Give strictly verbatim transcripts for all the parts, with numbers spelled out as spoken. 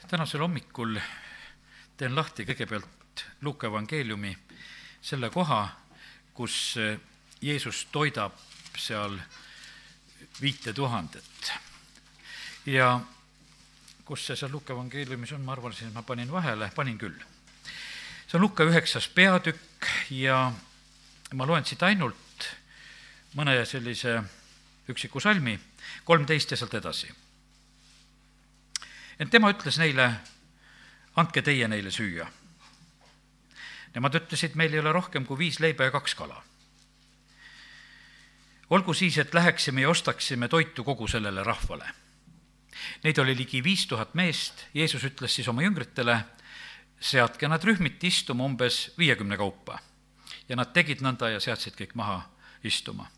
tänasel hommikul teen lahti kõigepealt Luuka evangeeliumi selle koha, kus Jeesus toidab seal viite tuhandet. Ja kus see seal Luuka evangeeliumis on, ma arvasin, et ma panin vahele, panin küll. See on Luuka üheksas peatükk ja ma loen siit ainult mõne sellise üksiku salmi, kolmteist ja sealt edasi. Ent tema ütles neile, andke teie neile süüa. Nemad ütlesid, meil ei ole rohkem kui viis leiba ja kaks kala. Olgu siis, et läheksime ja ostaksime toitu kogu sellele rahvale. Neid oli ligi viis tuhat meest. Jeesus ütles siis oma jüngritele, seadke nad rühmiti istuma umbes viiekümne kaupa. Ja nad tegid nõnda ja seadsid kõik maha istuma.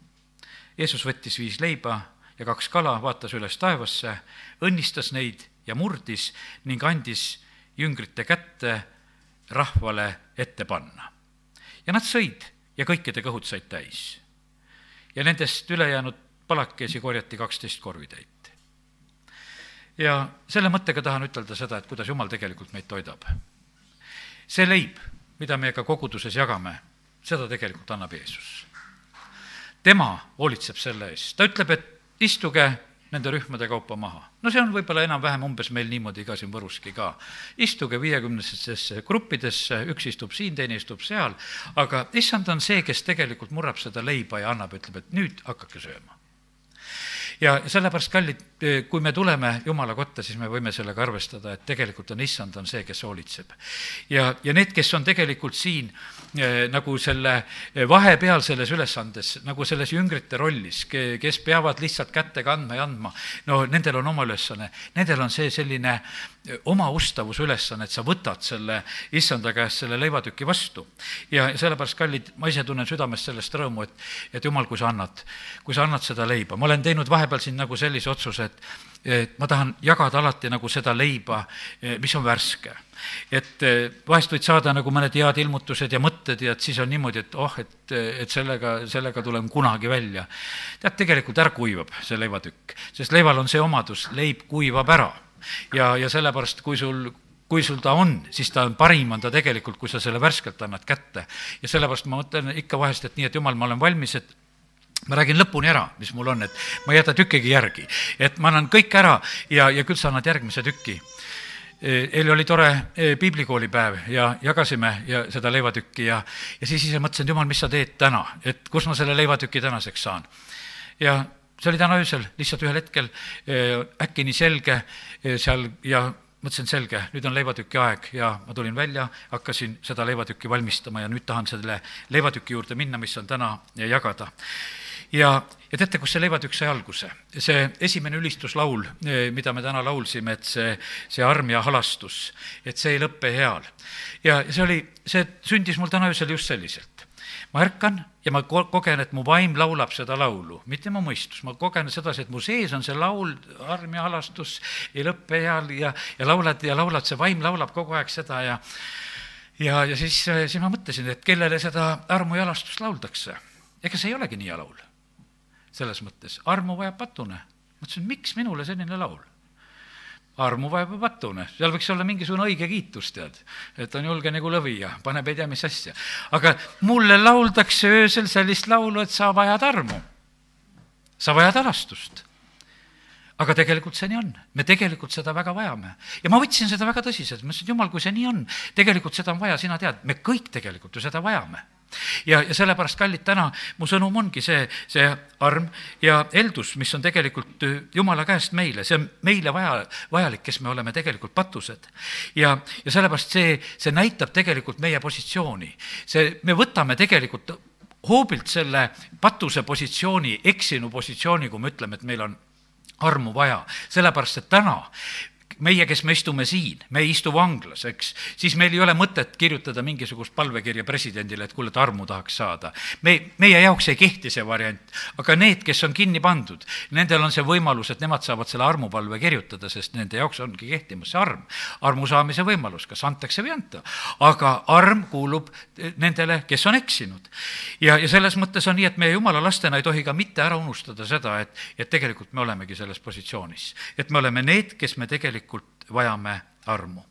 Jeesus võttis viis leiba ja kaks kala, vaatas üles taevasse, õnnistas neid ja murdis ning andis jüngrite kätte rahvale ette panna. Ja nad sõid ja kõikide kõhud said täis. Ja nendest ülejäänud palakesi korjati kaksteist korvitäit. Ja selle mõttega tahan ütelda seda, et kuidas Jumal tegelikult meid toidab. See leib, mida me ka koguduses jagame, seda tegelikult annab Jeesus. Tema hoolitseb selle eest. Ta ütleb, et istuge nende rühmade kaupa maha. No see on võib-olla enam-vähem umbes meil niimoodi ka siin Võruski ka. Istuge viiekümnesesse gruppidesse, üks istub siin, teine istub seal, aga issand on see, kes tegelikult murrab seda leiba ja annab, ütleb, et nüüd hakake sööma. Ja sellepärast, kallid, kui me tuleme Jumala kotta, siis me võime sellega arvestada, et tegelikult on issand on see, kes hoolitseb. Ja, ja need, kes on tegelikult siin eh, nagu selle vahepeal selles ülesandes, nagu selles jüngrite rollis, kes peavad lihtsalt kätte kandma ja andma, no nendel on oma ülesanne, nendel on see selline oma ustavus ülesanne, et sa võtad selle issanda käest selle leivatüki vastu. Ja sellepärast, kallid, ma ise tunnen südamest sellest rõõmu, et, et Jumal, kui sa annad, kui sa annad seda leiba. Ma olen teinud vahepeal siin nagu sellise otsuse, et, et ma tahan jagada alati nagu seda leiba, mis on värske. Et vahest võid saada nagu mõned head ilmutused ja mõtted ja et siis on niimoodi, et oh, et, et sellega, sellega tulem kunagi välja. Tead, tegelikult ära kuivab see leivatükk, sest leival on see omadus, leib kuivab ära. Ja, ja sellepärast, kui sul, kui sul ta on, siis ta on parim, on ta tegelikult, kui sa selle värskelt annad kätte. Ja sellepärast ma mõtlen ikka vahest, et nii, et Jumal, ma olen valmis, et ma räägin lõpuni ära, mis mul on, et ma ei jäta tükkigi järgi. Et ma annan kõik ära ja, ja küll sa annad järgmise tükki. Eile oli tore piiblikoolipäev ja jagasime ja seda leivatükki ja, ja siis ise mõtlesin, et Jumal, mis sa teed täna, et kus ma selle leivatükki tänaseks saan. Ja see oli täna öösel, lihtsalt ühel hetkel äkki nii selge seal ja mõtlesin selge, nüüd on leivatüki aeg ja ma tulin välja, hakkasin seda leivatükki valmistama ja nüüd tahan selle leivatüki juurde minna, mis on täna ja jagada. Ja, ja teate, kus see leivatükk sai alguse? See esimene ülistuslaul, mida me täna laulsime, et see, see arm ja halastus, et see ei lõppe heal. Ja see oli, see sündis mul täna öösel just selliselt. Ma ärkan ja ma kogen, et mu vaim laulab seda laulu, mitte mu mõistus. Ma kogen sedasi, et mu sees on see laul, arm ja halastus, ei lõppe heal ja, ja laulad ja laulad, see vaim laulab kogu aeg seda ja, ja, ja siis, siis ma mõtlesin, et kellele seda armu ja halastust lauldakse. Ega see ei olegi nii laul. Selles mõttes, armu vajab patune. Mõtlesin, miks minule selline laul? Armu vajab patune. Seal võiks olla mingisugune õige kiitus, tead, et on julge nagu lõvi ja paneb ei tea mis asja. Aga mulle lauldakse öösel sellist laulu, et sa vajad armu. Sa vajad halastust. Aga tegelikult see nii on. Me tegelikult seda väga vajame. Ja ma võtsin seda väga tõsiselt. Ma ütlesin, et Jumal, kui see nii on, tegelikult seda on vaja, sina tead, me kõik tegelikult ju seda vajame. Ja, ja sellepärast, kallid, täna mu sõnum ongi see, see arm ja eldus, mis on tegelikult Jumala käest meile, see on meile vaja, vajalik, kes me oleme tegelikult patused. Ja, ja sellepärast see, see näitab tegelikult meie positsiooni. See, me võtame tegelikult hoobilt selle patuse positsiooni, eksinu positsiooni, kui me ütleme, et meil on armu vaja. Sellepärast, et täna meie, kes me istume siin, me ei istu vanglas, eks, siis meil ei ole mõtet kirjutada mingisugust palvekirja presidendile, et kuule, et armu tahaks saada. Me, meie jaoks ei kehti see variant, aga need, kes on kinni pandud, nendel on see võimalus, et nemad saavad selle armupalve kirjutada, sest nende jaoks ongi kehtimas see arm. Armu saamise võimalus, kas antakse või anta. Aga arm kuulub nendele, kes on eksinud. Ja, ja selles mõttes on nii, et meie Jumala lastena ei tohi ka mitte ära unustada seda, et, et tegelikult me olemegi selles positsioonis. Et me oleme need, kes me tegelikult tegelikult vajame armu.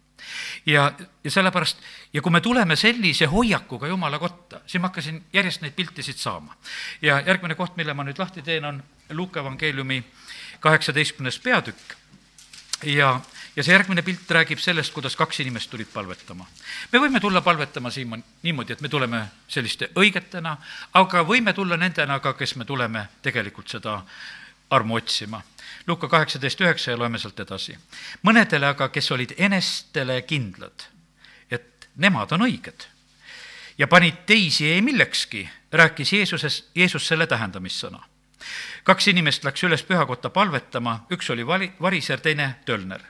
ja, ja sellepärast, ja kui me tuleme sellise hoiakuga Jumala kotta, siis ma hakkasin järjest neid piltisid saama. ja järgmine koht, mille ma nüüd lahti teen, on Luuka evangeeliumi kaheksateistkümnes peatükk. ja, ja see järgmine pilt räägib sellest, kuidas kaks inimest tulid palvetama. me võime tulla palvetama siin niimoodi, et me tuleme selliste õigetena, aga võime tulla nendena ka, kes me tuleme tegelikult seda armu otsima. Luuka kaheksateist üheksa ja loeme sealt edasi. Mõnedele aga, kes olid enestele kindlad, et nemad on õiged ja panid teisi ei millekski, rääkis Jeesuses, Jeesus selle tähendamissõna. Kaks inimest läks üles pühakotta palvetama, üks oli variser, teine tölner.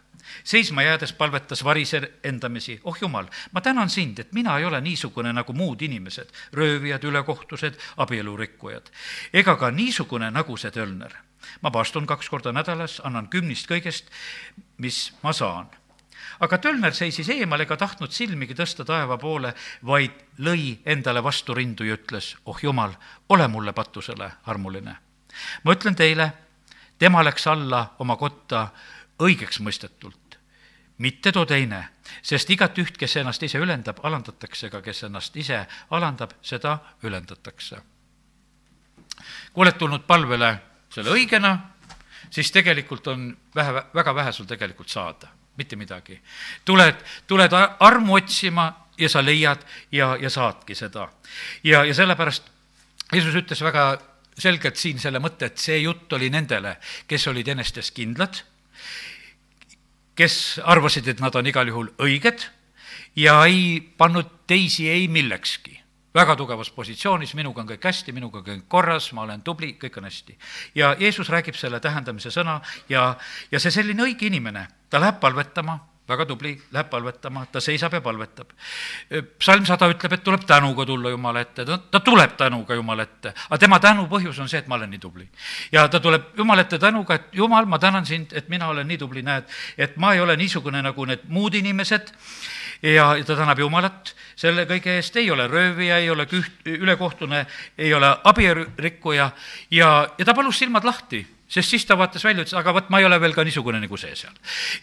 Seisma jäädes palvetas variser endamisi, oh Jumal, ma tänan sind, et mina ei ole niisugune nagu muud inimesed, röövijad, ülekohtused, abielurikkujad, ega ka niisugune nagu see tölner. Ma paastun kaks korda nädalas, annan kümnist kõigest, mis ma saan. Aga tölner seisis eemal ega tahtnud silmigi tõsta taeva poole, vaid lõi endale vastu rindu ja ütles, oh Jumal, ole mulle patusele armuline. Ma ütlen teile, tema läks alla oma kotta õigeks mõistetult, mitte too teine, sest igat üht, kes ennast ise ülendab, alandatakse, aga kes ennast ise alandab, seda ülendatakse. Kui oled tulnud palvele selle õigena, siis tegelikult on vähe, väga vähe sul tegelikult saada, mitte midagi. Tuled, tuled armu otsima ja sa leiad ja, ja saadki seda. Ja, ja sellepärast Jeesus ütles väga selgelt siin selle mõtte, et see jutt oli nendele, kes olid enestes kindlad, kes arvasid, et nad on igal juhul õiged ja ei pannud teisi ei millekski. Väga tugevas positsioonis, minuga on kõik hästi, minuga on kõik korras, ma olen tubli, kõik on hästi. Ja Jeesus räägib selle tähendamise sõna ja, ja see selline õige inimene, ta läheb palvetama, väga tubli, läheb palvetama, ta seisab ja palvetab. Psalm sada ütleb, et tuleb tänuga tulla Jumala ette, ta, ta tuleb tänuga Jumala ette, aga tema tänu põhjus on see, et ma olen nii tubli. Ja ta tuleb Jumala ette tänuga, et Jumal, ma tänan sind, et mina olen nii tubli, näed, et ma ei ole niisugune nagu need muud inimesed ja ta tänab Jumalat, selle kõige eest ei ole röövija, ei ole küht, ülekohtune, ei ole abielurikkuja ja, ja ta palus silmad lahti. Sest siis ta vaatas välja, ütles, aga võt, ma ei ole veel ka niisugune nagu see seal.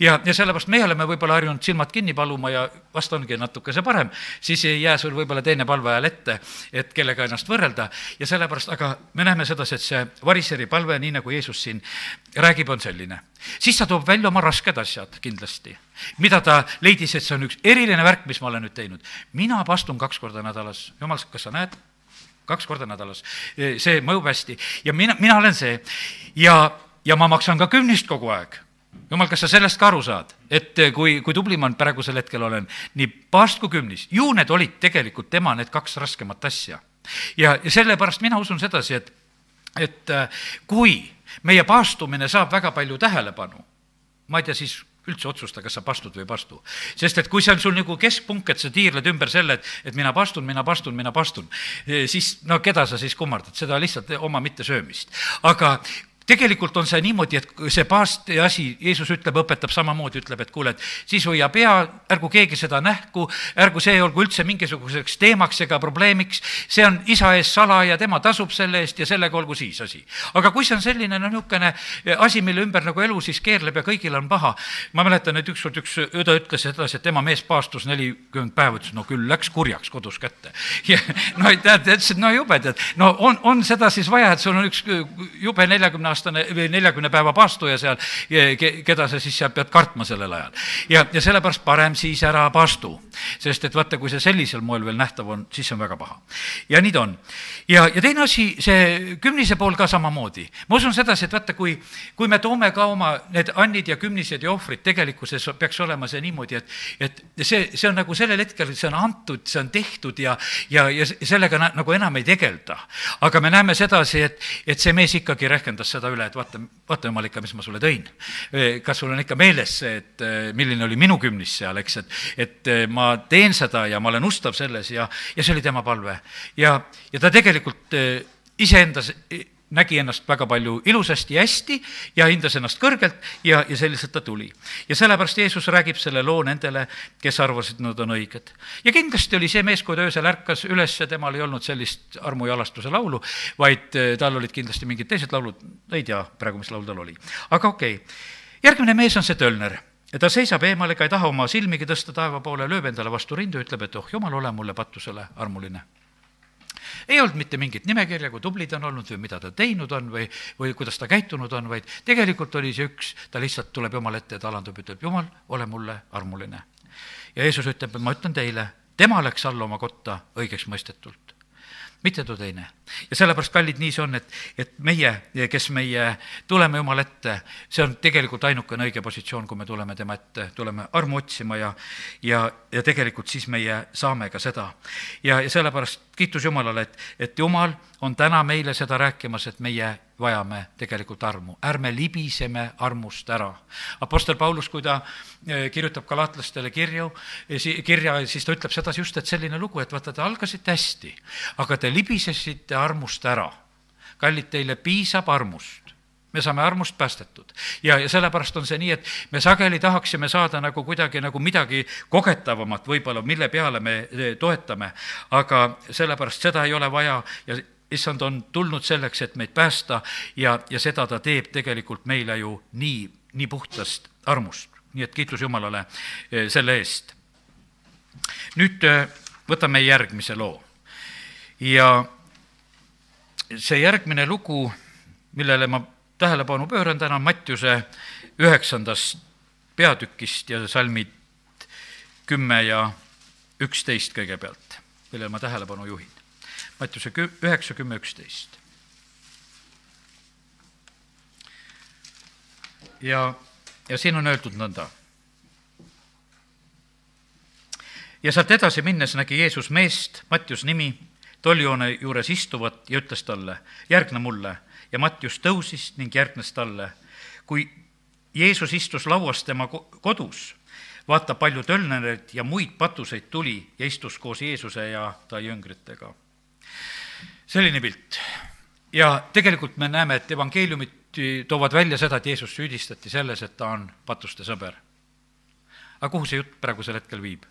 Ja, ja sellepärast me oleme võib-olla harjunud silmad kinni paluma ja vast ongi natuke see parem, siis ei jää sul võib-olla teine palve ajal ette, et kellega ennast võrrelda. Ja sellepärast, aga me näeme seda, et see variseri palve, nii nagu Jeesus siin räägib, on selline. Siis ta toob välja oma rasked asjad kindlasti, mida ta leidis, et see on üks eriline värk, mis ma olen nüüd teinud. Mina pastun kaks korda nädalas. Jumal, kas sa näed? Kaks korda nädalas. See mõjub hästi. Ja mina, mina olen see. Ja, ja ma maksan ka kümnist kogu aeg. Jumal, kas sa sellest ka aru saad? Et kui, kui tubli ma praegusel hetkel olen, nii paast kui kümnis. Ju need olid tegelikult tema need kaks raskemat asja. Ja, ja sellepärast mina usun sedasi, et, et kui meie paastumine saab väga palju tähelepanu, ma ei tea siis üldse otsusta, kas sa pastud või pastu. Sest et kui see on sul nagu keskpunkt, et sa tiirled ümber selle, et, et mina pastun, mina pastun, mina pastun, siis no keda sa siis kummardad, seda lihtsalt oma mitte söömist. Aga tegelikult on see niimoodi, et see paasti asi, Jeesus ütleb, õpetab samamoodi, ütleb, et kuule, et siis hoia pea, ärgu keegi seda nähku, ärgu see olgu üldse mingisuguseks teemaks ega probleemiks, see on isa ees sala ja tema tasub selle eest ja sellega olgu siis asi. Aga kui see on selline no, niisugune asi, mille ümber nagu elu siis keerleb ja kõigil on paha, ma mäletan, et ükskord üks õde ütles edasi, et tema mees paastus nelikümmend päeva, ütles, no küll läks kurjaks kodus kätte. Ja, no tead, ütles, et no jube, tead, no on, on seda siis vaja, et sul on üks jube neljakümne või neljakümne päeva paastuja seal, keda sa siis seal pead kartma sellel ajal. Ja, ja sellepärast parem siis ära paastu, sest et vaata, kui see sellisel moel veel nähtav on, siis on väga paha. Ja nii ta on. Ja, ja teine asi, see kümnise pool ka samamoodi. Ma usun sedasi, et vaata, kui, kui me toome ka oma need annid ja kümnised ja ohvrid, tegelikkuses peaks olema see niimoodi, et, et see, see on nagu sellel hetkel, see on antud, see on tehtud ja, ja, ja sellega nagu enam ei tegelda. Aga me näeme sedasi, et, et see mees ikkagi rehkendas seda üle, et vaata, vaata jumal ikka, mis ma sulle tõin. Kas sul on ikka meeles see, et milline oli minu kümnis seal, eks, et, et ma teen seda ja ma olen ustav selles ja, ja see oli tema palve. Ja, ja ta tegelikult iseendas nägi ennast väga palju ilusasti ja hästi ja hindas ennast kõrgelt ja, ja selliselt ta tuli. Ja sellepärast Jeesus räägib selle loo nendele, kes arvasid, nad on õiged. Ja kindlasti oli see mees, kui ta öösel ärkas üles, temal ei olnud sellist armu ja alastuse laulu, vaid tal olid kindlasti mingid teised laulud, ei tea praegu, mis laul tal oli. Aga okei, okay. Järgmine mees on see tölner. ja ta seisab eemal ega ei taha oma silmigi tõsta taeva poole, lööb endale vastu rindu, ütleb, et oh jumal, ole mulle patusele armuline. Ei olnud mitte mingit nimekirja, kui tubli ta on olnud või mida ta teinud on või, või kuidas ta käitunud on, vaid tegelikult oli see üks, ta lihtsalt tuleb Jumal ette ja ta alandub, ütleb, Jumal, ole mulle armuline. Ja Jeesus ütleb, et ma ütlen teile, tema läks alla oma kotta õigeks mõistetult, mitte too teine. Ja sellepärast, kallid, nii see on, et, et meie, kes meie tuleme Jumal ette, see on tegelikult ainukene õige positsioon, kui me tuleme tema ette, tuleme armu otsima ja, ja, ja tegelikult siis meie saame ka seda. Ja, ja sellepärast kiitus Jumalale, et, et Jumal on täna meile seda rääkimas, et meie vajame tegelikult armu. Ärme libiseme armust ära. Apostel Paulus, kui ta kirjutab galaatlastele kirju, kirja, siis ta ütleb sedasi just, et selline lugu, et vaata, te algasite hästi, aga te libisesite armust ära. Kallid, teile piisab armust. Me saame armust päästetud. Ja, ja sellepärast on see nii, et me sageli tahaksime saada nagu kuidagi nagu midagi kogetavamat võib-olla, mille peale me toetame, aga sellepärast seda ei ole vaja ja issand on tulnud selleks, et meid päästa ja, ja seda ta teeb tegelikult meile ju nii, nii puhtast armust. Nii et kiitus Jumalale selle eest. Nüüd võtame järgmise loo. Ja see järgmine lugu, millele ma tähelepanu pööran täna, Mattiuse üheksandast peatükist ja salmid kümme ja üksteist kõigepealt, millele ma tähelepanu juhin. Mattiuse üheksa, kümme, üksteist. Ja, ja siin on öeldud nõnda. Ja sealt edasi minnes nägi Jeesus meest, Mattius nimi, tollijoone juures istuvat ja ütles talle, järgne mulle. Ja Mattius tõusis ning järgnes talle. Kui Jeesus istus lauas tema kodus, vaata palju tölnereid ja muid patuseid tuli ja istus koos Jeesuse ja ta jüngritega. Selline pilt. Ja tegelikult me näeme, et evangeeliumid toovad välja seda, et Jeesus süüdistati selles, et ta on patuste sõber. Aga kuhu see jutt praegusel hetkel viib?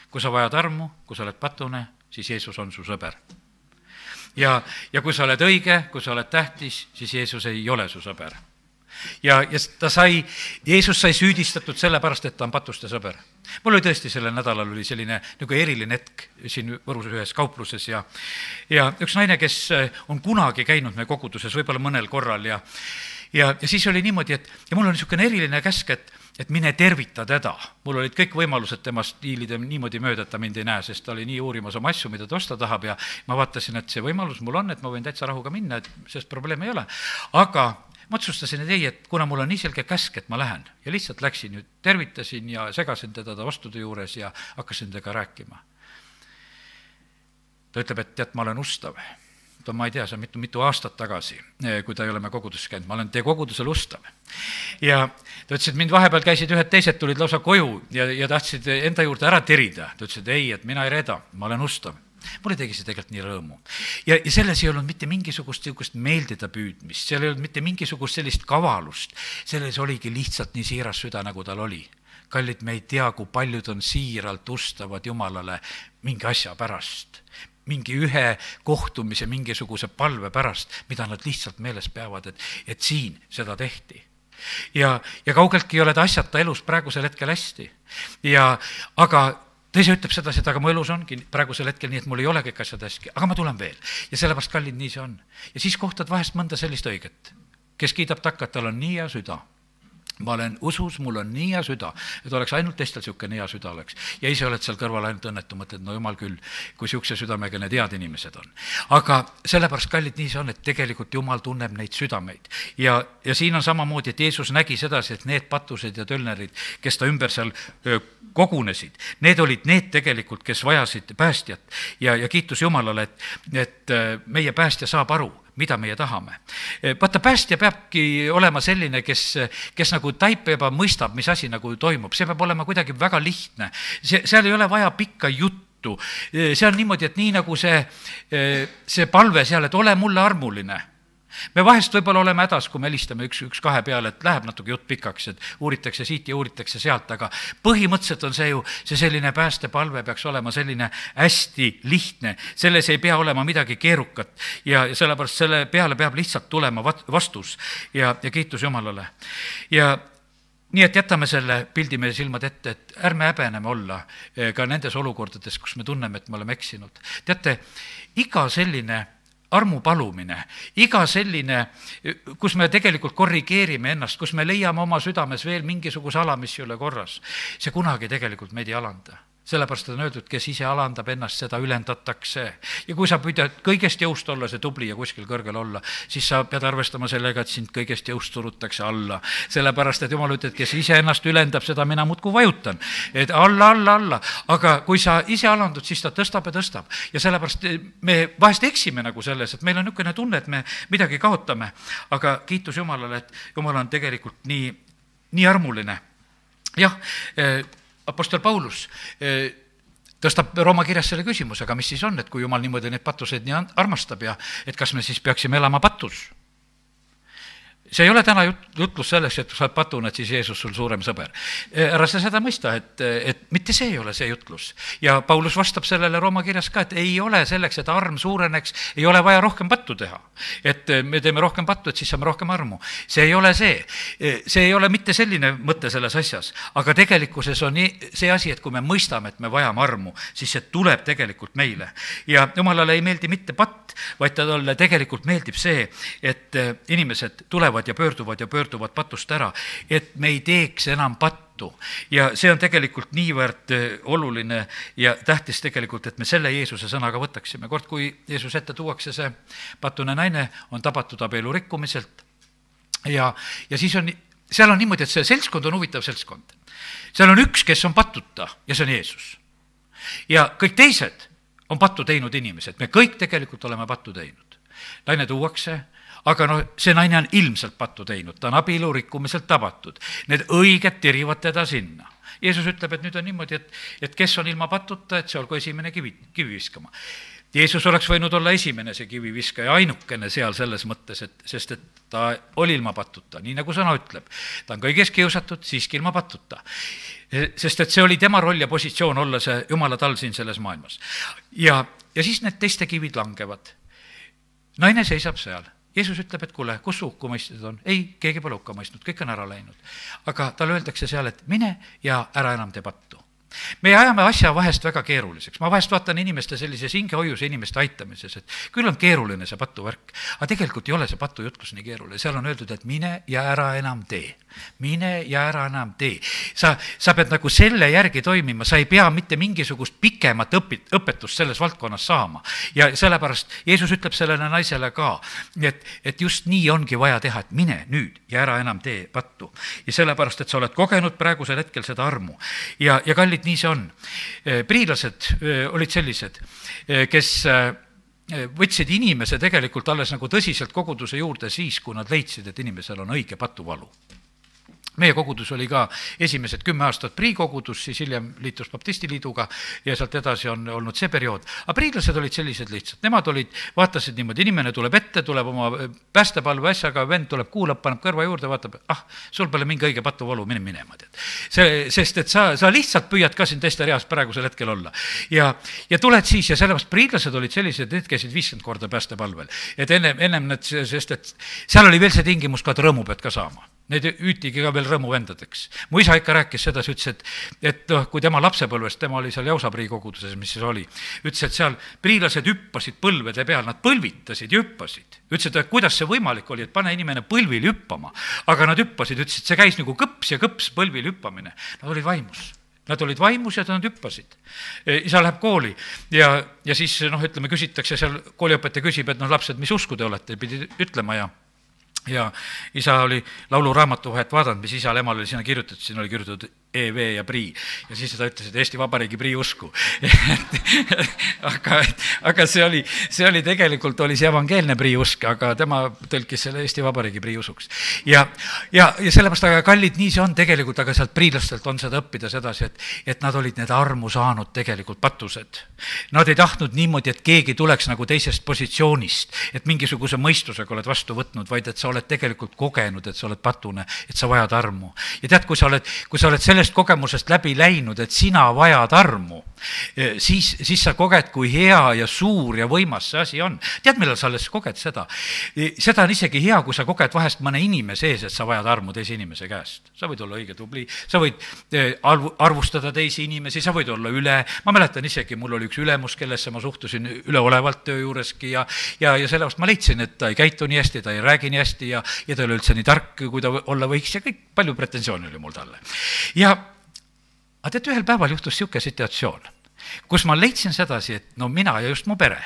Kui sa vajad armu, kui sa oled patune, siis Jeesus on su sõber. Ja, ja kui sa oled õige, kui sa oled tähtis, siis Jeesus ei ole su sõber. Ja, ja ta sai, Jeesus sai süüdistatud sellepärast, et ta on patuste sõber. Mul oli tõesti sellel nädalal oli selline nagu eriline hetk siin Võrus ühes kaupluses ja, ja üks naine, kes on kunagi käinud me koguduses, võib-olla mõnel korral ja, ja, ja siis oli niimoodi, et ja mul on niisugune eriline käsk, et, et mine tervita teda. Mul olid kõik võimalused temast diilida niimoodi mööda, et ta mind ei näe, sest ta oli nii uurimas oma asju, mida ta osta tahab ja ma vaatasin, et see võimalus mul on, et ma võin täitsa rahuga minna, et sest probleem ei ole. Aga ma otsustasin, et ei, et kuna mul on nii selge käsk, et ma lähen ja lihtsalt läksin, nüüd tervitasin ja segasin teda ta vastude juures ja hakkasin tega rääkima. Ta ütleb, et tead, ma olen ustav. Ta, ma ei tea, see on mitu, mitu aastat tagasi, kui ta ei ole me koguduses käinud, ma olen teie kogudusel ustav. Ja ta ütles, et mind vahepeal käisid ühed teised, tulid lausa koju ja, ja tahtsid enda juurde ära tirida. Ta ütles, et ei, et mina ei reeda, ma olen ustav. Mulle tegi see tegelikult nii rõõmu. Ja, ja selles ei olnud mitte mingisugust meeldida püüdmist, seal ei olnud mitte mingisugust sellist kavalust, selles oligi lihtsalt nii siiras süda, nagu tal oli. Kallid, me ei tea, kui paljud on siiralt ustavad Jumalale mingi asja pärast, mingi ühe kohtumise, mingisuguse palve pärast, mida nad lihtsalt meeles peavad, et, et siin seda tehti. Ja, ja kaugeltki ei ole ta asjata elus praegusel hetkel hästi. Ja, aga teise ütleb seda, et aga mu elus ongi praegusel hetkel nii, et mul ei ole kõik asjad hästi, aga ma tulen veel. Ja sellepärast, kallid, nii see on. Ja siis kohtad vahest mõnda sellist õiget, kes kiidab takka, et tal on nii hea süda. Ma olen usus, mul on nii hea süda, et oleks ainult teistel niisugune hea süda oleks. Ja ise oled seal kõrval ainult õnnetu, mõtled, no jumal küll, kui niisuguse südamega need head inimesed on. Aga sellepärast, kallid, nii see on, et tegelikult Jumal tunneb neid südameid. Ja, ja siin on samamoodi, et Jeesus nägi sedasi, et need patused ja tölnerid, kes ta ümber seal kogunesid, need olid need tegelikult, kes vajasid päästjat. Ja, ja kiitus Jumalale, et, et meie päästja saab aru, mida meie tahame. Vaata, päästja peabki olema selline, kes, kes nagu taipeb ja mõistab, mis asi nagu toimub. See peab olema kuidagi väga lihtne. See, seal ei ole vaja pikka juttu. See on niimoodi, et nii nagu see, see palve seal, et ole mulle armuline. Me vahest võib-olla oleme hädas, kui me helistame üks, üks kahe peale, et läheb natuke jutt pikaks, et uuritakse siit ja uuritakse sealt, aga põhimõtteliselt on see ju, see selline päästepalve peaks olema selline hästi lihtne, selles ei pea olema midagi keerukat ja, ja sellepärast selle peale peab lihtsalt tulema vastus ja, ja kiitus Jumalale. Ja nii et jätame selle pildi meie silmad ette, et ärme häbeneme olla ka nendes olukordades, kus me tunneme, et me oleme eksinud. teate, iga selline armu palumine, iga selline, kus me tegelikult korrigeerime ennast, kus me leiame oma südames veel mingisuguse ala, mis ei ole korras, see kunagi tegelikult meid ei alanda. Sellepärast on öeldud, kes ise alandab ennast, seda ülendatakse. Ja kui sa püüad kõigest jõust olla, see tubli ja kuskil kõrgel olla, siis sa pead arvestama sellega, et sind kõigest jõust surutakse alla. Sellepärast, et Jumal ütleb, kes ise ennast ülendab, seda mina muudkui vajutan. Et alla, alla, alla. Aga kui sa ise alandud, siis ta tõstab ja tõstab. Ja sellepärast me vahest eksime nagu selles, et meil on niisugune tunne, et me midagi kaotame. Aga kiitus Jumalale, et Jumal on tegelikult nii, nii armuline. Jah, Apostel Paulus tõstab Rooma kirjas selle küsimuse, aga mis siis on, et kui Jumal niimoodi neid pattuseid nii armastab ja et kas me siis peaksime elama patus? See ei ole täna jutlus selleks, et sa oled patune, et siis Jeesus sul suurem sõber. Ära sa seda mõista, et, et mitte see ei ole see jutlus. Ja Paulus vastab sellele Rooma kirjas ka, et ei ole selleks, et arm suureneks, ei ole vaja rohkem pattu teha. Et me teeme rohkem pattu, et siis saame rohkem armu. See ei ole see. See ei ole mitte selline mõte selles asjas, aga tegelikkuses on see asi, et kui me mõistame, et me vajame armu, siis see tuleb tegelikult meile. Ja Jumalale ei meeldi mitte patt, vaid talle tegelikult meeldib see, et inimesed tulevad ja pöörduvad ja pöörduvad patust ära, et me ei teeks enam pattu. Ja see on tegelikult niivõrd oluline ja tähtis tegelikult, et me selle Jeesuse sõnaga võtaksime. Kord, kui Jeesus ette tuuakse, see patune naine on tabatud abielu rikkumiselt ja, ja siis on, seal on niimoodi, et see seltskond on huvitav seltskond. Seal on üks, kes on pattuta ja see on Jeesus. Ja kõik teised on pattu teinud inimesed. Me kõik tegelikult oleme pattu teinud. Naine tuuakse, aga no see naine on ilmselt pattu teinud, ta on abielu rikkumiselt tabatud. Need õiged tirivad teda sinna. Jeesus ütleb, et nüüd on niimoodi, et, et kes on ilma patuta, et see olgu esimene kivi, kivi viskama. Jeesus oleks võinud olla esimene see kivi viska ja ainukene seal selles mõttes, et, sest et ta oli ilma patuta, nii nagu sõna ütleb. Ta on kõigest kiusatud, siiski ilma patuta. Sest et see oli tema roll ja positsioon olla see Jumala tal siin selles maailmas. Ja, ja siis need teiste kivid langevad. Naine seisab seal. Jeesus ütleb, et kuule, kus hukku mõisted on? Ei, keegi pole hukka mõistnud, kõik on ära läinud. Aga talle öeldakse seal, et mine ja ära enam tee pattu. Me ajame asja vahest väga keeruliseks. Ma vahest vaatan inimeste sellises hingehoius ja inimeste aitamises, et küll on keeruline see patuvärk, aga tegelikult ei ole see patujutlus nii keeruline. Seal on öeldud, et mine ja ära enam tee. Mine ja ära enam tee. Sa, sa pead nagu selle järgi toimima, sa ei pea mitte mingisugust pikemat õpit, õpetust selles valdkonnas saama. Ja sellepärast Jeesus ütleb sellele naisele ka, et, et just nii ongi vaja teha, et mine nüüd ja ära enam tee pattu. Ja sellepärast, et sa oled kogenud praegusel hetkel seda armu. Ja, ja kallid, nii see on. Priilased olid sellised, kes võtsid inimese tegelikult alles nagu tõsiselt koguduse juurde siis, kui nad leidsid, et inimesel on õige patuvalu. Meie kogudus oli ka esimesed kümme aastat priikogudus, siis hiljem liitus baptistiliiduga ja sealt edasi on olnud see periood. Aga priidlased olid sellised lihtsalt. Nemad olid, vaatasid niimoodi, inimene tuleb ette, tuleb oma päästepalve asjaga, vend tuleb, kuulab, paneb kõrva juurde, vaatab, ah, sul pole mingi õige patuvalu, mine minema. See, sest et sa, sa lihtsalt püüad ka siin teiste reas praegusel hetkel olla. Ja, ja tuled siis ja sellepärast priidlased olid sellised, need käisid viiskümmend korda päästepalvel. Et ennem, ennem need, sest et seal oli veel see tingimus ka, et rõõmu pead ka saama. Need üütigi ka veel rõõmu vendadeks. Mu isa ikka rääkis seda, ütles, et, et noh, kui tema lapsepõlvest, tema oli seal Jausaprii koguduses, mis siis oli, ütles, et seal priilased hüppasid põlvede peal, nad põlvitasid ja hüppasid. Ütles, et kuidas see võimalik oli, et pane inimene põlvil hüppama, aga nad hüppasid, ütles, et see käis nagu kõps ja kõps põlvil hüppamine. Nad olid vaimus. Nad olid vaimus ja nad hüppasid. Isa läheb kooli ja, ja siis, noh, ütleme, küsitakse seal, kooliõpetaja küsib, et noh, lapsed, mis usku te olete, pidi ütlema ja ja isa oli lauluraamatu vahet vaadanud, mis isal emal oli sinna kirjutatud, siin oli kirjutatud E V ja Prii. Ja siis ta ütles, et Eesti Vabariigi Prii usku. aga, aga see oli, see oli tegelikult, oli see evangeelne Prii usk, aga tema tõlkis selle Eesti Vabariigi Prii usuks. Ja, ja, ja sellepärast, aga kallid, nii see on tegelikult, aga sealt priilastelt on seda õppida sedasi, et, et nad olid need armu saanud tegelikult patused. Nad ei tahtnud niimoodi, et keegi tuleks nagu teisest positsioonist, et mingisuguse mõistusega oled vastu võtnud, vaid et sa oled tegelikult kogenud, et sa oled patune, et sa vajad armu. Ja tead, kui sa oled, kui sa oled selle kogemusest läbi läinud, et sina vajad armu, siis, siis sa koged, kui hea ja suur ja võimas see asi on. Tead, millal sa alles koged seda? Seda on isegi hea, kui sa koged vahest mõne inimese ees, et sa vajad armu teise inimese käest. Sa võid olla õige tubli, sa võid arvustada teisi inimesi, sa võid olla üle. Ma mäletan isegi, mul oli üks ülemus, kellesse ma suhtusin üleolevalt töö juureski ja, ja, ja sellepärast ma leidsin, et ta ei käitu nii hästi, ta ei räägi nii hästi ja, ja ta oli üldse nii tark, kui ta olla võiks ja kõik palju pretensiooni oli mul talle. Ja aga tead, ühel päeval juhtus siuke situatsioon, kus ma leidsin sedasi, et no mina ja just mu pere,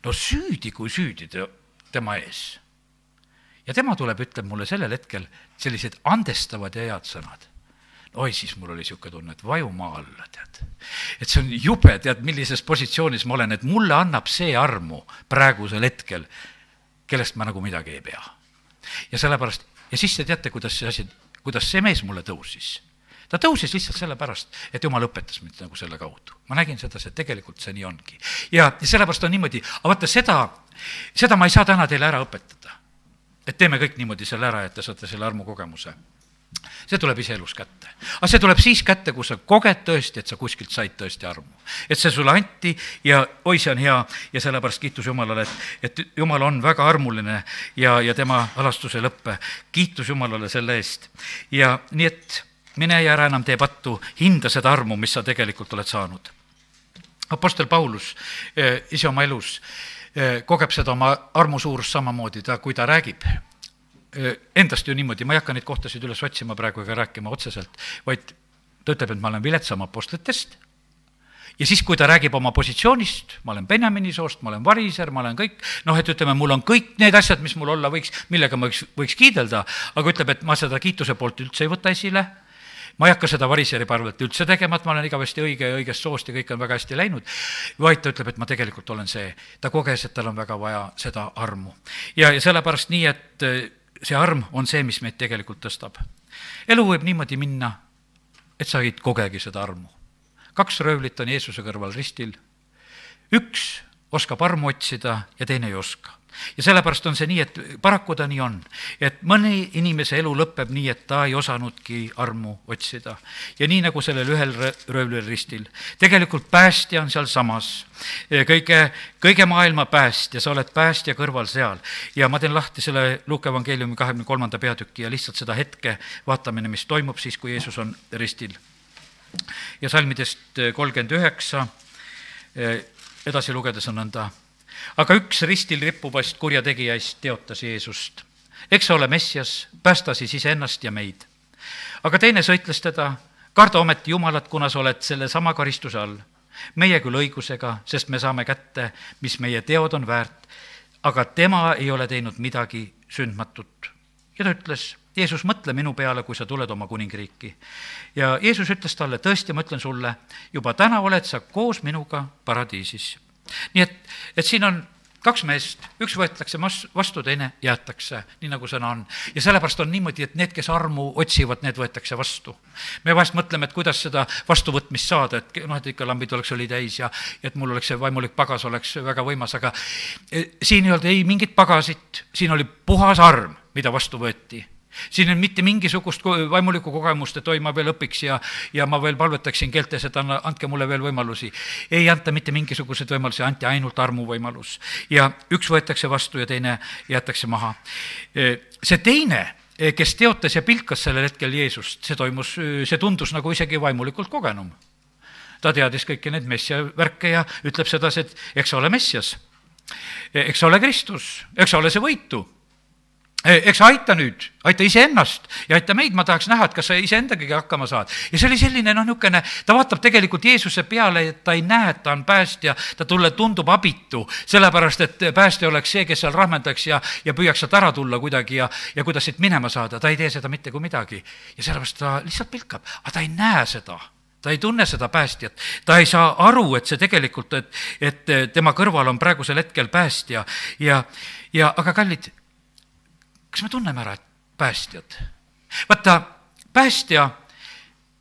no süüdi kui süüdi tema ees. Ja tema tuleb, ütleb mulle sellel hetkel sellised andestavad ja head sõnad. Oi, siis mul oli siuke tunne, et vaju maa alla, tead. Et see on jube, tead, millises positsioonis ma olen, et mulle annab see armu praegusel hetkel, kellest ma nagu midagi ei pea. Ja sellepärast, ja siis te teate, kuidas see asi, kuidas see mees mulle tõusis. Ta tõusis lihtsalt sellepärast, et Jumal õpetas mind nagu selle kaudu. Ma nägin seda, et tegelikult see nii ongi. Ja sellepärast on niimoodi, aga vaata seda, seda ma ei saa täna teile ära õpetada. Et teeme kõik niimoodi selle ära, et te saate selle armu kogemuse. See tuleb ise elus kätte. Aga see tuleb siis kätte, kui sa koged tõesti, et sa kuskilt said tõesti armu. Et see sulle anti ja oi, see on hea ja sellepärast kiitus Jumalale, et, et Jumal on väga armuline ja, ja tema alastuse lõppe. Kiitus Jumalale selle eest. Ja nii et mine ja ära enam tee pattu, hinda seda armu, mis sa tegelikult oled saanud. Apostel Paulus eh, ise oma elus eh, kogeb seda oma armu suurust samamoodi, ta, kui ta räägib eh, endast ju niimoodi, ma ei hakka neid kohtasid üles otsima praegu ega rääkima otseselt, vaid ta ütleb, et ma olen viletsam apostlitest ja siis, kui ta räägib oma positsioonist, ma olen Benjamini soost, ma olen variser, ma olen kõik, noh, et ütleme, mul on kõik need asjad, mis mul olla võiks, millega ma võiks, võiks kiidelda, aga ütleb, et ma seda kiituse poolt üldse ei võta esile. Ma ei hakka seda variseri parvelt üldse tegema, et ma olen igavesti õige ja õigest soost ja kõik on väga hästi läinud, vaid ta ütleb, et ma tegelikult olen see. Ta koges, et tal on väga vaja seda armu. Ja, ja sellepärast nii, et see arm on see, mis meid tegelikult tõstab. Elu võib niimoodi minna, et sa ei kogegi seda armu. Kaks röövlit on Jeesuse kõrval ristil. Üks oskab armu otsida ja teine ei oska. Ja sellepärast on see nii, et paraku ta nii on, et mõni inimese elu lõpeb nii, et ta ei osanudki armu otsida. Ja nii nagu sellel ühel röövlil ristil. Tegelikult päästja on seal samas. Kõige, kõige maailma päästja, sa oled päästja kõrval seal. Ja ma teen lahti selle Luuka evangeeliumi kahekümne kolmanda peatüki ja lihtsalt seda hetke vaatamine, mis toimub siis, kui Jeesus on ristil. Ja salmidest kolmkümmend üheksa edasi lugedes on nõnda. Aga üks ristil rippuvast kurjategijaist teotas Jeesust. Eks sa ole Messias, päästa siis iseennast ja meid. Aga teine sõitles teda, karda ometi Jumalat, kuna sa oled selle sama karistuse all. Meie küll õigusega, sest me saame kätte, mis meie teod on väärt, aga tema ei ole teinud midagi sündmatut. Ja ta ütles, Jeesus, mõtle minu peale, kui sa tuled oma kuningriiki. Ja Jeesus ütles talle, tõesti, ma ütlen sulle, juba täna oled sa koos minuga paradiisis. Nii et, et siin on kaks meest, üks võetakse vastu, teine jäetakse, nii nagu sõna on. Ja sellepärast on niimoodi, et need, kes armu otsivad, need võetakse vastu. Me vahest mõtleme, et kuidas seda vastuvõtmist saada, et, noh, et ikka lambid oleks oli täis ja et mul oleks see vaimulik pagas oleks väga võimas, aga siin ei olnud ei mingit pagasit, siin oli puhas arm, mida vastu võeti. Siin on mitte mingisugust vaimulikku kogemust, et oi, ma veel õpiks ja, ja ma veel palvetaksin keeltes, et anna, andke mulle veel võimalusi. Ei anta mitte mingisugused võimalusi, anti ainult armu võimalus. Ja üks võetakse vastu ja teine jäetakse maha. See teine, kes teotas ja pilkas sellel hetkel Jeesust, see toimus, see tundus nagu isegi vaimulikult kogenum. Ta teadis kõiki need messia värke ja ütleb seda, et eks sa ole Messias, eks sa ole Kristus, eks sa ole see võitu. Eks aita nüüd, aita iseennast ja aita meid, ma tahaks näha, et kas sa iseendagagi hakkama saad. Ja see oli selline, noh, niukene, ta vaatab tegelikult Jeesuse peale, et ta ei näe, et ta on päästja, ta tulle tundub abitu, sellepärast, et päästja oleks see, kes seal rahmendaks ja, ja püüaks sealt ära tulla kuidagi ja, ja kuidas siit minema saada. Ta ei tee seda mitte kui midagi. Ja sellepärast ta lihtsalt pilkab, aga ta ei näe seda. Ta ei tunne seda päästjat. Ta ei saa aru, et see tegelikult, et, et tema kõrval on praegusel hetkel päästja. Ja, ja aga kallid, kas me tunneme ära, et päästjad? Vaata, päästja,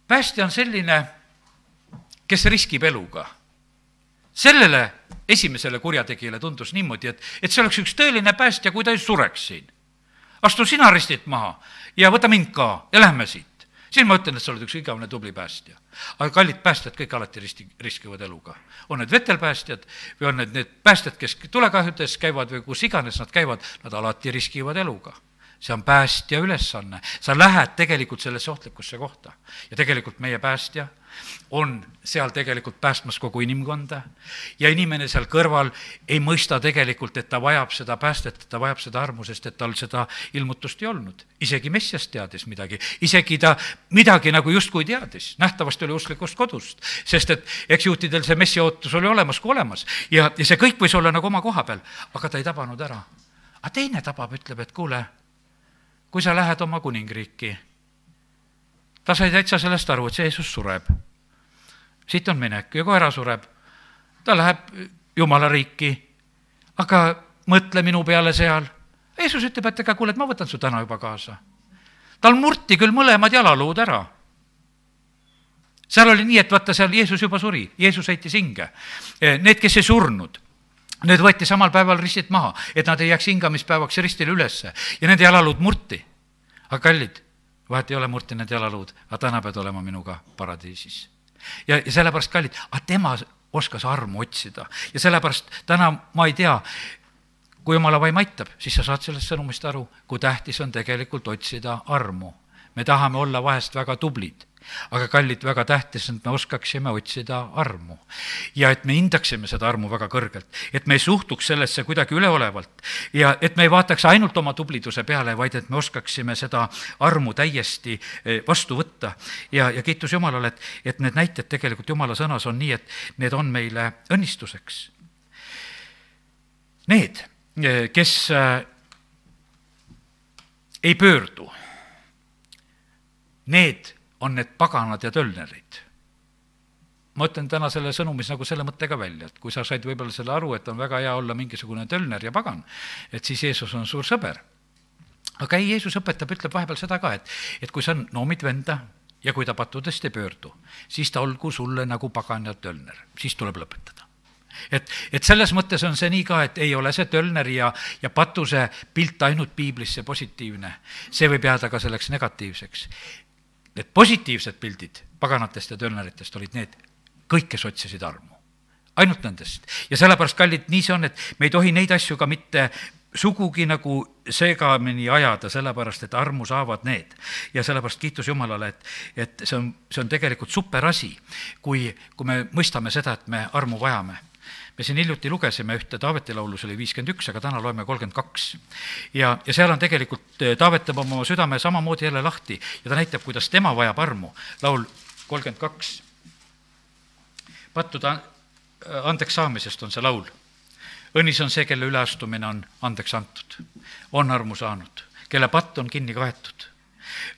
päästja on selline, kes riskib eluga. Sellele esimesele kurjategijale tundus niimoodi, et, et see oleks üks tõeline päästja, kui ta ei sureks siin. Astu sina ristit maha ja võta mind ka ja lähme siit. siis ma ütlen, et sa oled üks igavene tubli päästja. Aga kallid päästjad kõik alati risti, riskivad eluga. On need vetelpäästjad või on need, need päästjad, kes tulekahjudes käivad või kus iganes nad käivad, nad alati riskivad eluga. See on päästja ülesanne. Sa lähed tegelikult sellesse ohtlikusse kohta. Ja tegelikult meie päästja on seal tegelikult päästmas kogu inimkonda ja inimene seal kõrval ei mõista tegelikult, et ta vajab seda päästet, et ta vajab seda armu, sest et tal seda ilmutust ei olnud. Isegi Messias teadis midagi, isegi ta midagi nagu justkui teadis, nähtavasti oli usklikust kodust, sest et eks juhtidel see Messia ootus oli olemas kui olemas ja, ja see kõik võis olla nagu oma koha peal, aga ta ei tabanud ära. Aga teine tabab, ütleb, et kuule, kui sa lähed oma kuningriiki, ta sai täitsa sellest aru, et see Jeesus sureb. Siit on minek ja koera sureb. Ta läheb Jumala riiki, aga mõtle minu peale seal. Jeesus ütleb, et ega kuule, et ma võtan su täna juba kaasa. Tal murti küll mõlemad jalaluud ära. Seal oli nii, et vaata seal Jeesus juba suri. Jeesus heitis hinge. Need, kes ei surnud, need võeti samal päeval ristit maha, et nad ei jääks hingamispäevaks ristile ülesse. Ja nende jalaluud murti. Aga kallid, vahet ei ole murti nende jalaluud, aga täna pead olema minuga paradiisis. Ja, ja sellepärast kallid, aga tema oskas armu otsida. Ja sellepärast täna ma ei tea, kui Jumala vaim aitab, siis sa saad sellest sõnumist aru, kui tähtis on tegelikult otsida armu. Me tahame olla vahest väga tublid, aga kallid, väga tähtis, et me oskaksime otsida armu. Ja et me hindaksime seda armu väga kõrgelt, et me ei suhtuks sellesse kuidagi üleolevalt ja et me ei vaataks ainult oma tubliduse peale, vaid et me oskaksime seda armu täiesti vastu võtta. Ja, ja kiitus Jumalale, et, et need näited tegelikult Jumala sõnas on nii, et need on meile õnnistuseks. Need, kes ei pöördu, need on need paganad ja tölnerid. Ma ütlen täna selle sõnumis nagu selle mõttega välja, et kui sa said võib-olla selle aru, et on väga hea olla mingisugune tölner ja pagan, et siis Jeesus on suur sõber. Aga ei, Jeesus õpetab, ütleb vahepeal seda ka, et, et kui sa noomid venda ja kui ta pattudest ei pöördu, siis ta olgu sulle nagu pagan ja tölner, siis tuleb lõpetada. Et, et selles mõttes on see nii ka, et ei ole see tölneri ja, ja patuse pilt ainult piiblisse positiivne. See võib jääda ka selleks negatiivseks. Need positiivsed pildid paganatest ja tölneritest olid need kõik, kes otsisid armu. Ainult nendest. Ja sellepärast, kallid, nii see on, et me ei tohi neid asju ka mitte sugugi nagu segamini ajada, sellepärast, et armu saavad need. Ja sellepärast kiitus Jumalale, et, et see on, see on tegelikult super asi, kui, kui me mõistame seda, et me armu vajame. Me siin hiljuti lugesime ühte Taaveti laulus oli viiskümmend üks, aga täna loeme kolmkümmend kaks. Ja, ja seal on tegelikult Taavet teeb oma südame samamoodi jälle lahti ja ta näitab, kuidas tema vajab armu. Laul kolmkümmend kaks. Pattuda andeks saamisest on see laul. Õnnis on see, kelle üleastumine on andeks antud. On armu saanud, kelle patt on kinni kaetud.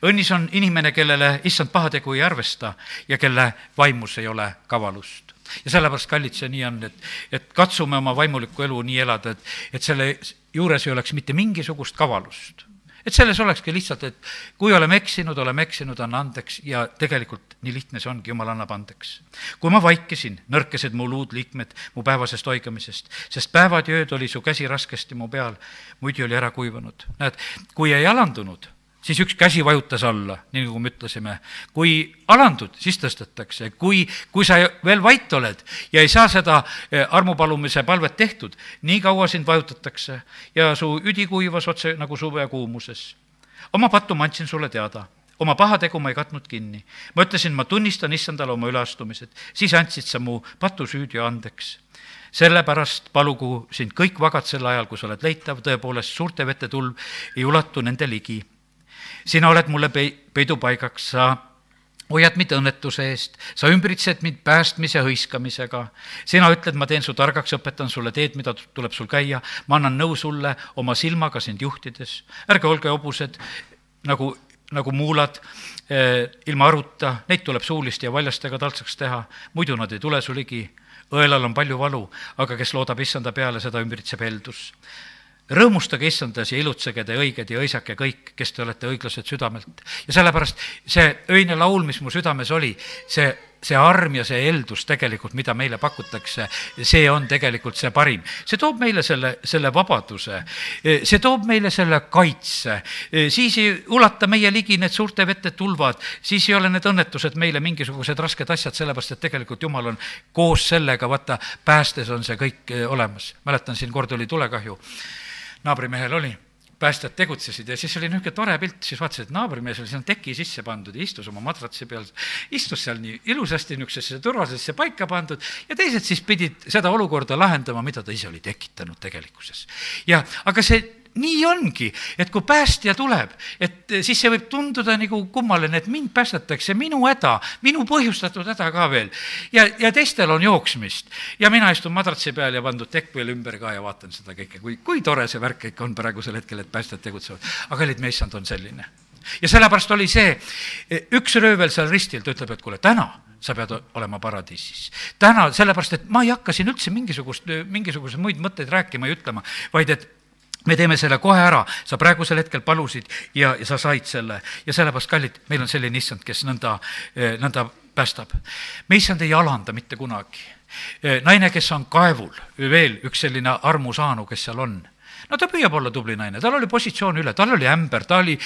Õnnis on inimene, kellele issand pahategu ei arvesta ja kelle vaimus ei ole kavalust. Ja sellepärast, kallid, see nii on, et, et katsume oma vaimulikku elu nii elada, et, et selle juures ei oleks mitte mingisugust kavalust. Et selles olekski lihtsalt, et kui oleme eksinud, oleme eksinud, anna andeks ja tegelikult nii lihtne see ongi, Jumal annab andeks. Kui ma vaikisin, nõrkesed mu luud liikmed mu päevasest oigamisest, sest päevad ja ööd oli su käsi raskesti mu peal, muidu oli ära kuivanud. Näed, kui ei alandunud, siis üks käsi vajutas alla, nii nagu me ütlesime. Kui alandud, siis tõstetakse. Kui, kui sa veel vait oled ja ei saa seda armupalumise palvet tehtud, nii kaua sind vajutatakse ja su üdi kuivas otse nagu suve kuumuses. Oma pattu ma andsin sulle teada, oma pahategu ma ei katnud kinni. Ma ütlesin, ma tunnistan issandale oma üleastumised, siis andsid sa mu patu süüd ja andeks. Sellepärast palugu sind kõik vagad sel ajal, kui sa oled leitav, tõepoolest suurte vete tulv ei ulatu nende ligi. Sina oled mulle peidupaigaks, sa hoiad mind õnnetuse eest, sa ümbritsed mind päästmise hõiskamisega. Sina ütled, ma teen su targaks, õpetan sulle teed, mida tuleb sul käia, ma annan nõu sulle oma silmaga sind juhtides. Ärge olge hobused nagu, nagu muulad eh, ilma aruta, neid tuleb suulist ja valjastega taltsaks teha, muidu nad ei tule su ligi. Õelal on palju valu, aga kes loodab issanda peale, seda ümbritseb heldus. Rõõmustage issandas ja ilutsege te õiged ja õisake kõik, kes te olete õiglased südamelt. Ja sellepärast see öine laul, mis mu südames oli, see see arm ja see eeldus tegelikult, mida meile pakutakse, see on tegelikult see parim. See toob meile selle, selle vabaduse, see toob meile selle kaitse, siis ei ulata meie ligi need suurte vette tulvad, siis ei ole need õnnetused meile mingisugused rasked asjad, sellepärast et tegelikult Jumal on koos sellega, vaata, päästes on see kõik olemas. Mäletan, siin kord oli tulekahju, naabrimehel oli, päästjad tegutsesid ja siis oli niisugune tore pilt, siis vaatasid, et naabrimees oli sinna teki sisse pandud ja istus oma matratsi peal, istus seal nii ilusasti niisugusesse turvalisesse paika pandud ja teised siis pidid seda olukorda lahendama, mida ta ise oli tekitanud tegelikkuses. Ja aga see nii ongi, et kui päästja tuleb, et siis see võib tunduda nagu kummaline, et mind päästetakse, minu häda, minu põhjustatud häda ka veel. Ja, ja teistel on jooksmist. Ja mina istun madratsi peal ja pandud tekk veel ümber ka ja vaatan seda kõike, kui, kui tore see värk ikka on praegusel hetkel, et päästjad tegutsevad. Aga olid meissand on selline. Ja sellepärast oli see, üks röövel seal ristil, ta ütleb, et kuule, täna sa pead olema paradiisis. Täna, sellepärast, et ma ei hakka siin üldse mingisugust, mingisugust muid mõtteid rääkima ja ütlema, vaid et me teeme selle kohe ära, sa praegusel hetkel palusid ja, ja sa said selle. Ja sellepärast, kallid, meil on selline issand, kes nõnda, nõnda päästab. Me issand ei alanda mitte kunagi. Naine, kes on kaevul, veel üks selline armusaanu, kes seal on. No ta püüab olla tubli naine, tal oli positsioon üle, tal oli ämber, ta oli,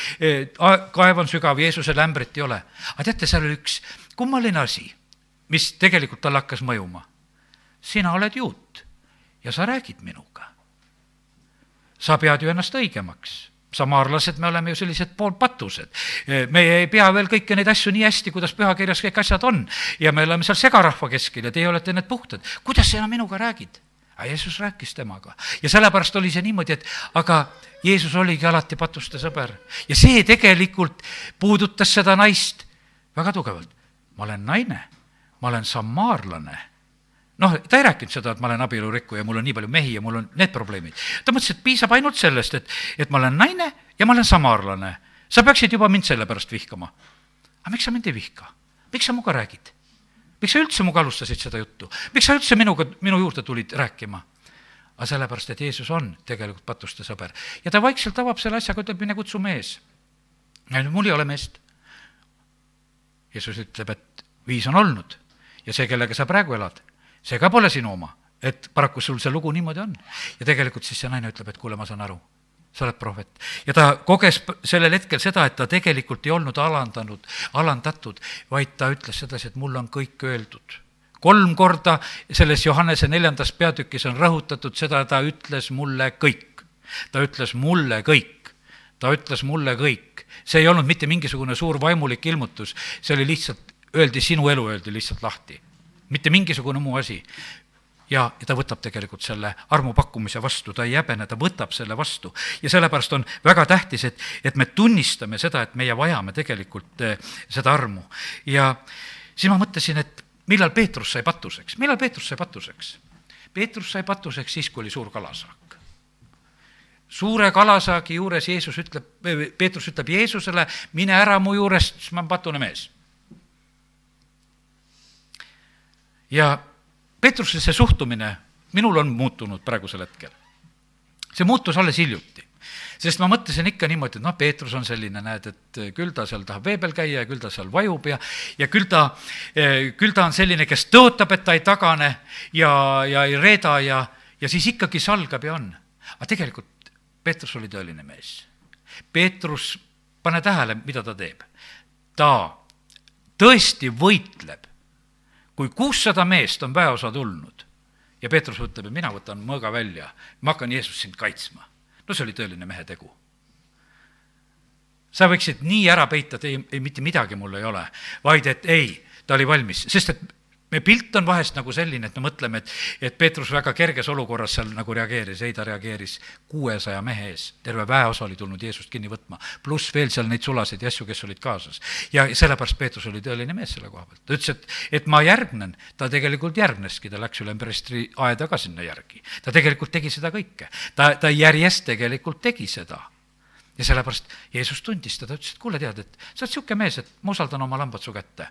kaev on sügav, Jeesusel ämbrit ei ole. Aga teate, seal oli üks kummaline asi, mis tegelikult tal hakkas mõjuma. Sina oled juut ja sa räägid minuga. Sa pead ju ennast õigemaks. Samaarlased, me oleme ju sellised poolpatused. Me ei pea veel kõiki neid asju nii hästi, kuidas pühakirjas kõik asjad on. Ja me oleme seal segarahva keskel ja teie olete need puhtad. Kuidas sina minuga räägid? Aga Jeesus rääkis temaga. Ja sellepärast oli see niimoodi, et aga Jeesus oligi alati patuste sõber. Ja see tegelikult puudutas seda naist väga tugevalt. Ma olen naine, ma olen samaarlane. Noh, ta ei rääkinud seda, et ma olen abielurikku ja mul on nii palju mehi ja mul on need probleemid. Ta mõtles, et piisab ainult sellest, et, et ma olen naine ja ma olen samaarlane. Sa peaksid juba mind selle pärast vihkama. Aga miks sa mind ei vihka? Miks sa muga räägid? Miks sa üldse muga alustasid seda juttu? Miks sa üldse minuga, minu juurde tulid rääkima? Aga sellepärast, et Jeesus on tegelikult patuste sõber. Ja ta vaikselt avab selle asjaga, ütleb, mine kutsu mees. Ja mul ei ole meest. Jeesus ütleb, et viis on olnud ja see, kellega sa praegu elad, see ka pole sinu oma, et paraku sul see lugu niimoodi on. Ja tegelikult siis see naine ütleb, et kuule, ma saan aru, sa oled prohvet. Ja ta koges sellel hetkel seda, et ta tegelikult ei olnud alandanud, alandatud, vaid ta ütles sedasi, et mul on kõik öeldud. Kolm korda selles Johannese neljandas peatükis on rõhutatud seda, ta ütles mulle kõik. Ta ütles mulle kõik. Ta ütles mulle kõik. See ei olnud mitte mingisugune suur vaimulik ilmutus, see oli lihtsalt, öeldi sinu elu, öeldi lihtsalt lahti. Mitte mingisugune muu asi. Ja, ja ta võtab tegelikult selle armu pakkumise vastu, ta ei jäbene, ta võtab selle vastu. Ja sellepärast on väga tähtis, et, et me tunnistame seda, et meie vajame tegelikult seda armu. Ja siis ma mõtlesin, et millal Peetrus sai patuseks? Millal Peetrus sai patuseks? Peetrus sai patuseks siis, kui oli suur kalasaak. Suure kalasaagi juures Jeesus ütleb, Peetrus ütleb Jeesusele, mine ära mu juurest, siis ma olen patune mees. Ja Peetruse see suhtumine minul on muutunud praegusel hetkel. See muutus alles hiljuti. Sest ma mõtlesin ikka niimoodi, et noh, Peetrus on selline, näed, et küll ta seal tahab vee peal käia ja küll ta seal vajub ja, ja küll, ta, küll ta on selline, kes tõotab, et ta ei tagane ja, ja ei reeda ja, ja siis ikkagi salgab ja on. Aga tegelikult Peetrus oli tõeline mees. Peetrus, pane tähele, mida ta teeb. Ta tõesti võitleb. Kui kuussada meest on väeosa tulnud ja Peetrus ütleb, et mina võtan mõõga välja, ma hakkan Jeesus sind kaitsma. No see oli tõeline mehe tegu. Sa võiksid nii ära peita, et ei, ei, mitte midagi mul ei ole, vaid et ei, ta oli valmis, sest et me pilt on vahest nagu selline, et me mõtleme, et, et Peetrus väga kerges olukorras seal nagu reageeris, ei ta reageeris kuuesaja mehe ees, terve väeosa oli tulnud Jeesust kinni võtma, pluss veel seal neid sulasid ja asju, kes olid kaasas. Ja sellepärast Peetrus oli tõeline mees selle koha pealt. Ta ütles, et, et ma järgnen, ta tegelikult järgneski, ta läks üle ümberistri aeda ka sinna järgi. Ta tegelikult tegi seda kõike. Ta, ta järjest tegelikult tegi seda. Ja sellepärast Jeesus tundis teda, ütles, et kuule tead, et sa oled siuke mees, et ma usaldan oma lambad su kätte.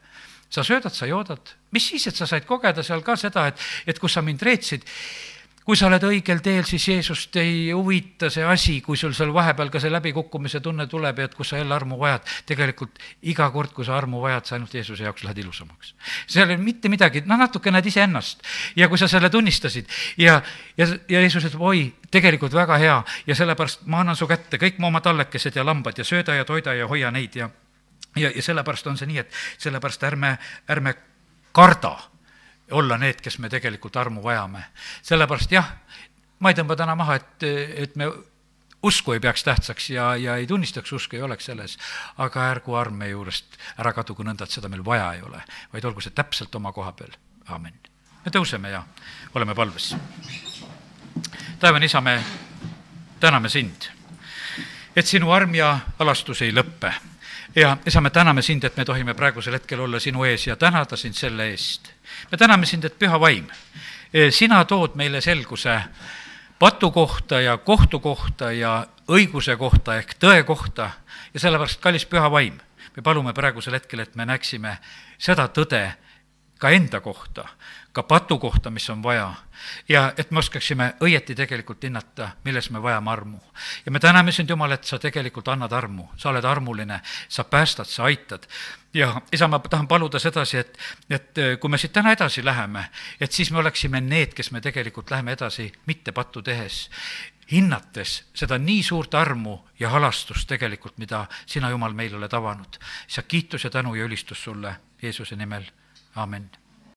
Sa söödad, sa joodad. Mis siis, et sa said kogeda seal ka seda, et, et kus sa mind reetsid, kui sa oled õigel teel, siis Jeesust ei huvita see asi, kui sul seal vahepeal ka see läbikukkumise tunne tuleb ja et kus sa jälle armu vajad. Tegelikult iga kord, kui sa armu vajad, sa ainult Jeesuse jaoks lähed ilusamaks. Seal ei mitte midagi, no natuke näed ise ennast. Ja kui sa selle tunnistasid ja, ja, ja Jeesus ütleb, oi, tegelikult väga hea ja sellepärast ma annan su kätte kõik mu oma tallekesed ja lambad ja sööda ja toida ja hoia neid ja, ja, ja sellepärast on see nii, et sellepärast ärme, ärme karda olla need, kes me tegelikult armu vajame. Sellepärast jah, ma ei tõmba täna maha, et, et me usku ei peaks tähtsaks ja, ja ei tunnistaks usku, ei oleks selles, aga ärgu arm meie juurest ära kadugu nõnda, et seda meil vaja ei ole, vaid olgu see täpselt oma koha peal. Aamen. Me tõuseme ja oleme palves. Taevane isa, me täname sind, et sinu arm ja alastus ei lõppe. Ja isa, me täname sind, et me tohime praegusel hetkel olla sinu ees ja tänada sind selle eest. Me täname sind, et püha vaim, sina tood meile selguse patu kohta ja kohtu kohta ja õiguse kohta ehk tõe kohta ja sellepärast, kallis püha vaim, me palume praegusel hetkel, et me näeksime seda tõde ka enda kohta, ka patu kohta, mis on vaja ja et me oskaksime õieti tegelikult hinnata, milles me vajame armu. Ja me täname sind, Jumal, et sa tegelikult annad armu, sa oled armuline, sa päästad, sa aitad. Ja isa, ma tahan paluda sedasi, et, et kui me siit täna edasi läheme, et siis me oleksime need, kes me tegelikult läheme edasi mitte pattu tehes, hinnates seda nii suurt armu ja halastust tegelikult, mida sina, Jumal, meil oled avanud. Sa kiitus ja tänu ja ülistus sulle Jeesuse nimel. Amen.